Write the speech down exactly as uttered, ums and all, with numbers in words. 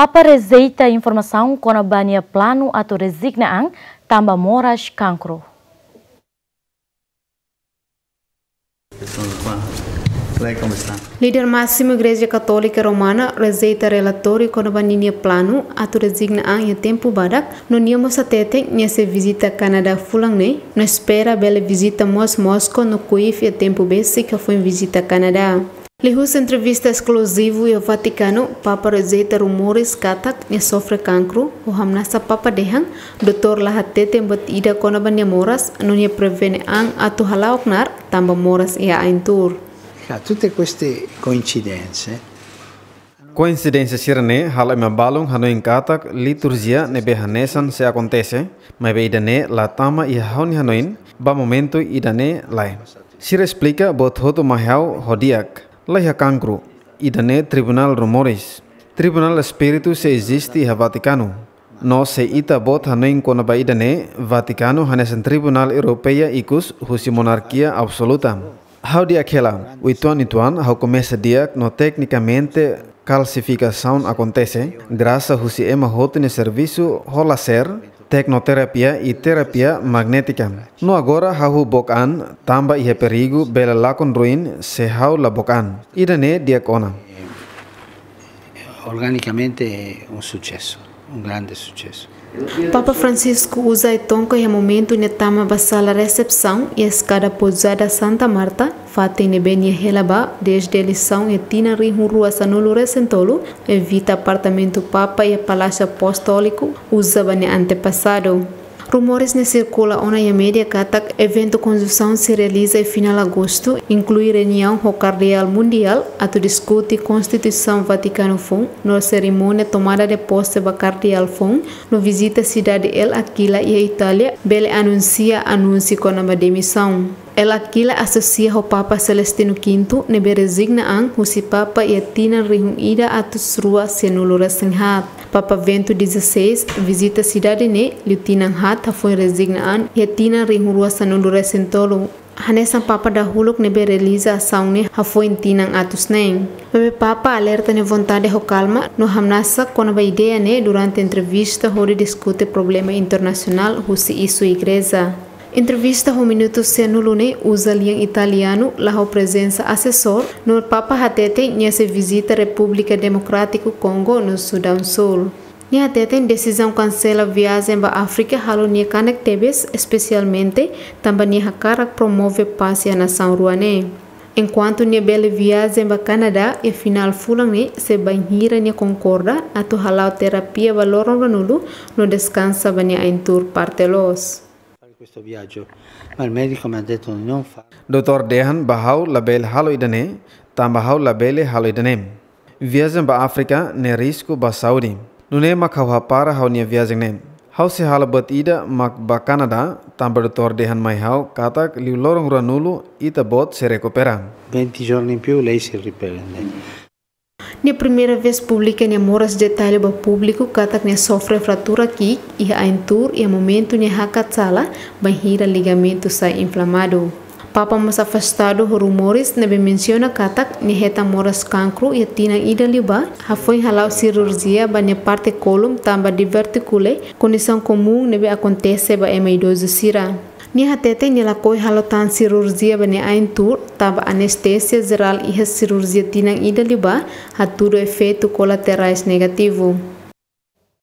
Papa rejeita informasaun kona-ba nia planu atu rezigna an tanba moras kankru. Líder másimu Igreja Katólika Romana rejeita relatóriu kona-ba ninia planu atu rezigna an iha tempu badak, no nia mós hateten nia sei vizita Kanadá fulan ne'e, no espera bele vizita mós Moscou no Kyiv iha tempu besik hafoin vizita Kanadá. Liuhusi entrevista eskluzivu iha Vatikanu, Papa rejeita rumores katak nia sofre kankru, ho hamnasa Papa dehan, doutór la hateten buat ida kona-ba nia moras, no nia prevene an atu hala'o knaar tanba moras iha ain tuur. Tutte queste coincidenze. Koinsidénsia sira-ne'e halo ema balun hanoin katak liturjia ne'ebé hanesan sei akontese, maibé ida-ne'e la tama iha ha'u-nia hanoin ba momentu ida-ne'e lae. Sira esplika buat hotu mai ha'u ho di'ak. Laiha kankru, ida-ne'e tribunál rumores. Tribunál espíritu sei eziste iha Vatikanu. No se ita-boot hanoin kona-ba ida-ne'e, Vatikanu hanesan tribunál europeia ikus husi monarkia absoluta. Ha'u di'ak hela, uitoan-uitoan ha'u komesa di'ak no teknikamente kalsifikasaun akontese, grasa husi ema hotu nia servisu ho laser, teknoterapia i terapia magnétika. No agora ha'u book an, tanba iha perigu bele lakon ruin se ha'u la book an. Ida-ne'e di'ak ona. Organicamente é um sucesso, um grande sucesso. Papa Francisco uza ai-tonka iha momentu nia tama ba sala resepsaun iha eskada Pousada Santa Marta, fatin ne'ebé nia hela ba dezde eleisaun iha tinan rihun rua sanulu resin tolu, evita apartamentu Papa iha Palásiu Apostóliku, uza ba nia antepasadu. Rumores ne'e sirkula ona iha média katak eventu konjunsaun sei realiza iha final agostu, inklui reuniaun ho Kardeál Mundiál atu diskute Konstituisaun Vatikanu foun, no serimónia tomada de posse ba Kardeál foun, no vizita sidade El Aquila iha Itália, bele anunsia anúnsiu kona-ba demisaun. El Aquila asosia ho Papa Celestino Quinto, ne'ebé rezigna an husi Papa iha tinan rihun ida atus rua sianulu resin haat. Papa Bento dezasseis vizita sidade ne'e liu tinan haat hafoin rezigna an iha tinan rihun rua sanulu resin tolu. Hanesan Papa dahuluk ne'ebé realiza asaun ne'e hafoin tinan atus neen. Maibé Papa alerta nia vontade ho kalma no hamnasa kona-ba ideia ne'e durante entrevista hodi diskute problema internasionál husi isu igreja. Entrevista ho minutu sianulu ne'e uza lian italianu, la ho prezensa asesór, no Papa hateten nia sei vizita Repúblika Demokrátiku Kongo no Sudaun Súl. Nia hateten desizaun kansela viajen ba Áfrika halo nia kanek tebes, espesialmente tanba nia hakarak promove pás iha nasaun rua ne'e. Enkuantu nia bele viajen ba Kanadá iha final fulan ne'e, se bainhira nia konkorda atu hala'o terapia ba loron ruanulu no deskansa ba nia ain tuur parte loos. Fare questo viaggio, ma il medico mi ha detto di non farlo. Doutór dehan ba ha'u labele halo ida-ne'e, tanba ha'u labele halo ida-ne'e. Viajen ba Áfrika ne'e risku ba saúde. Nune'e mak ha'u hapara ha'u-nia viajen ne'e. Ha'u sei halo buat ida mak ba Kanadá, tanba doutór dehan mai ha'u katak liu loron ruanulu ita-boot sei rekupera. Venti giorni in più lei si riprende. Nia primeira vez publika nia moras detalle ba públiku katak nia sofre fratura ki'ik iha ain tuur iha momentu nia hakat sala bainhira ligamentu sai inflamadu. Papa mós afastadu ho rumores ne'ebé mensiona katak nia hetan moras kankru iha tinan ida liubá, hafoin hala'o sirurjia ba nia parte kólon tanba divertikule, kondisaun komún ne'ebé akontese ba ema idozu sira. Nia hateten nia lakohi halo tan sirurjia ba nia ain tuur, tanba anestesia jerál iha sirurjia tinan ida liubá hatudu efeitu kolaterais negativu.